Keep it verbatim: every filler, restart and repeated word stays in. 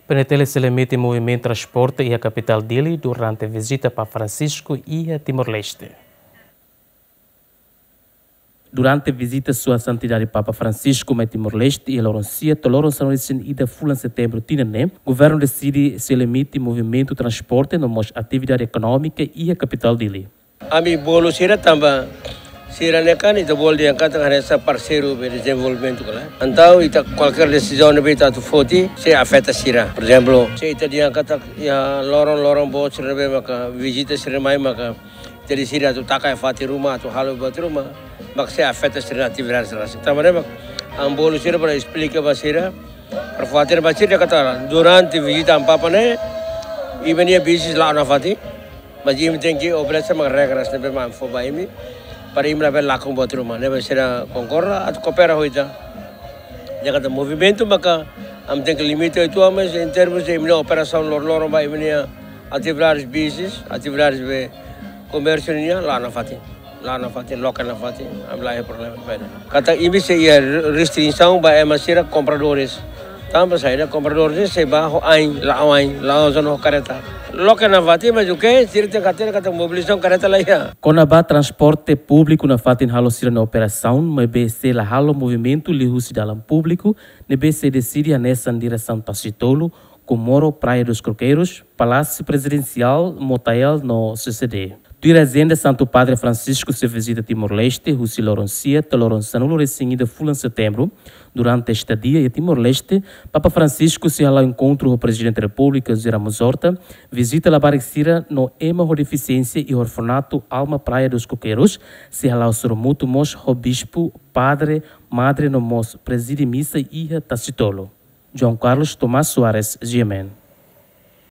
PNTL sei limita movimentu transporte iha kapitál Dili durante vizita Papa Francisco iha Timor-Leste. Durante vizita Sua Santidade Papa Francisco mai Timor-Leste iha loron sia to'o loron sanulu-resin-ida fulan Setembru tinan ne'e, governu deside sei limita movimentu transporte no mós atividade ekonómika iha kapitál Dili. Ami bolu sira tanba sira ne'e kan ita bolu dehan katak hanesan parseiru ba dezenvolvimentu kala. Entaun ita kualkér desizaun ne'ebé ita atu foti sei afeta sira. Porezemplu, se ita dehan katak iha loron-loron boot sira ne'ebé maka vizita sira mai maka ita deside atu taka iha fatin ruma, atu halo buat ruma, maka sei afeta sira-nia atividade sira. Tanba ne'e maka ami bolu sira para esplika ba sira, para fatin ba sira katak durante vizita Amu Papa ne'e, imi-nia business la'o nafatin, mas imi tenke obedese mak regras ne'ebé mak ami fó ba imi, para imi labele lakon buat ruma. Ne'ebé sira konkorda atu koopera ho ita. Dehan katak movimentu maka ami tenke limita uitoan, mas em termos de imi-nia operasaun loron-loron ba imi-nia atividades business, atividades be komérsiu nian la'o nafatin. La'o nafatin, loke nafatin, ami la iha problema ba ida-ne'e. Katak imi sei iha restrisaun ba ema sira kompradores. Tanba saida, kompradores sei bá ho ain, la'o ain, la'o zona ho kareta. Loke nafatin, mas oke, sira tenke hatene katak mobilizasaun kareta la iha. Kona-ba transporte públiku nafatin halo sira-nia operasaun, maibé sei la halo movimentu liuhusi dalan públiku, ne'ebé sei deside hanesan diresaun Tasitolu, Comoro, Praia dos Coqueiros, Palásiu Prezidensiál, Motael no C C D. Tuir ajenda, Santu Padre Francisco sei vizita Timor-Leste husi loron sia to'o loron sanulu-resin-ida fulan Setembru. Durante estadia iha Timor-Leste, Papa Francisco sei hala'o enkontru ho Prezidente Repúblika José Ramos Horta, vizita labarik sira no ema ho defisiénsia iha orfanatu Alma Praia dos Coqueiros, sei hala'o sorumutu mós ho bispu, padre, madre no mós prezide misa iha Tasitolu. João Carlos Tomás Soares, G M N.